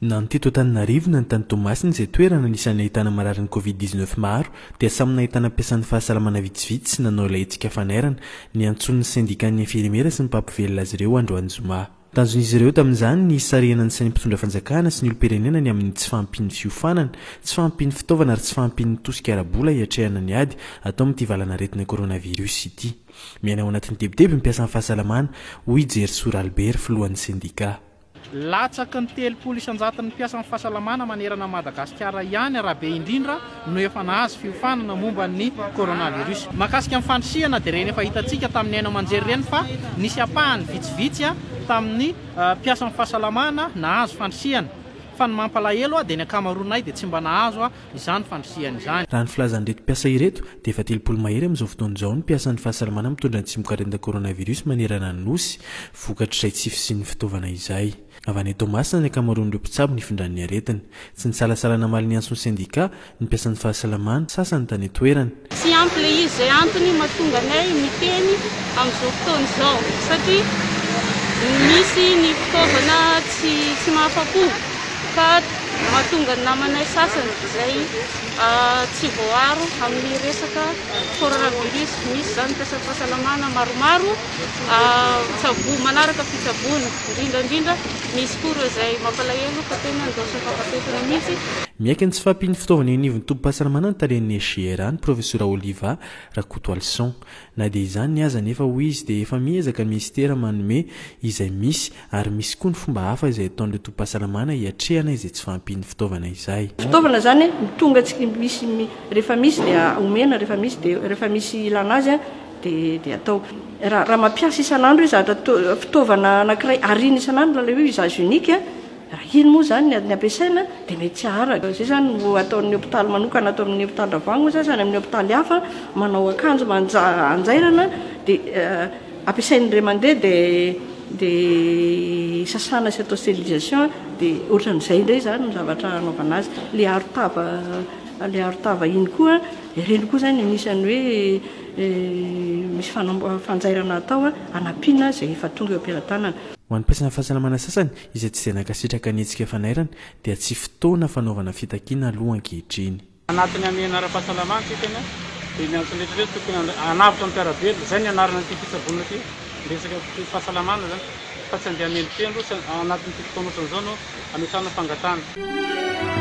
Na ny teto Antananarivo na ny tany Toamasina izay toerana anisan'ny nahitana mararin'ny Covid 19 maro dia samy nahitana mpiasan'ny fahasalamana vitsivitsy nanao ilay hetsika fanairana niantsoan'ny sendikan'ny infirimera sy ny mpampivelona azy ireo androany zoma. Tanjon'izy ireo tamin'izany ny hisarihana ny sain'ny mpitondra fanjakana sy ny olom-pirenena ny amin'ny tsy fahampian'ny fiofanana, tsy fahampian'ny fitaovana ary tsy fahampian'ny tosika ara-bola hiatrehana ny ady atao amin'ity valan'aretina coronavirus ity. Miaina ao anatin'ny tebiteby ny mpiasan'ny fahasalamana, hoy i Jerisoa Ralibera, filohan'ny sendika. Latsaky ny 30 isan-jaton'ny mpiasan'ny fahasalamana manerana an'i Madagasikara ihany raha be indrindra no efa nahazo fiofanana momba ny coronavirus. Mahakasika ny fandrisihana dia ireny efa hitantsika tamin'ny haino aman-jery ireny fa nisy ampahany vitsivitsy tamin'ny mpiasan'ny fahasalamana nahazo fandrisihana fa ny mampalahelo dia ny ankamaroanay dia tsy mba nahazo izany fandrisihana izany. Raha ny filazan'ireto mpiasa ireto dia efa 30 mahery amin'izao fotoana izao ny mpiasan'ny fahasalamana mitondra ny tsimokaretina coronavirus manerana ny Nosy, vokatr'izay tsy fisian'ny fitaovana izay. Avy any Toamasina ny ankamaroan'ireo mpitsabo nifindran'ny aretina. Tsy nisalasala namaly ny antson'ny sendika ny mpiasan'ny fahasalamana sasany tany an-toerana. Tsy ampy ilay izy, izay antony mahatonga anay miteny amin'izao fotoana izao satria misy ny fitaovana tsy tsy mahafa-po ka mahatonga ny namanay sasany izay tsy voaaro amin'ny resaka coronavirus. Misy izany mpiasan'ny fahasalamana maromaro Tsabo, manaraka fitsaboana, indrindra indrindra misy koa ireo izay mampalahelo fa tena nidaosin'ny fahafatesana mihitsy. Miaiky ny tsy fahampian'ny fitaovana eo anivon'ny tobim-pahasalamana ny talen'ny SGRA, ny Profesora Oliva Rakotoalison. Na dia izany aza anefa, hoy izy, dia efa miezaka ny minisitera manome izay misy ary misy koa ny fomba hafa izay ataon'ireo tobim-pahasalamana hiatrehana izay tsy fahampian'ny fitaovana izay. Fitaovana izany tonga tsy misy, rehefa misy dia omena, rehefa misy dia rehefa misy ilana azy dia dia atao. Raha raha mampiasa isan'andro hoe zavatra fitaovana anankiray ariana isan'andro ilay hoe usage unique, raha iny moa izany ny ampiasaina dia mety tsy haharaka. Izay izany no ataon'ny hopitaly manokana ato amin'ny hopitaly Ravoahangy moa izany sy any amin'ny hopitaly hafa, manao akanjo manja anjairana dia ampiasain'ny indray mandeha dia dia sasana sy atao stérilisation dia ohatran'izay indray izany no zavatra anaovana azy. Ilay arotava ilay arotava iny koa, ireny koa izany anisan'ny hoe Misy fanjairana atao hanampiana izay efa tonga eo am-pelatanana. Ho an'ny mpiasan'ny fahasalamana sasany izay tsy dia nankasitraka ny hetsika fanairana dia tsy fotoana fanaovana fitakiana aloha ankehitriny. Anatin'ny hamehana ara-pahasalamana isika anie dia miantso ny rehetra rehetra tokony hanavotra ny mpiara-belona, izay ny anarana ity fitsaboana ity, resaka fahasalamana izany fa tsy andeha hamendrofendro, tsy anatin'ity fotoana ohatran'izao no ametrahana fangatahana.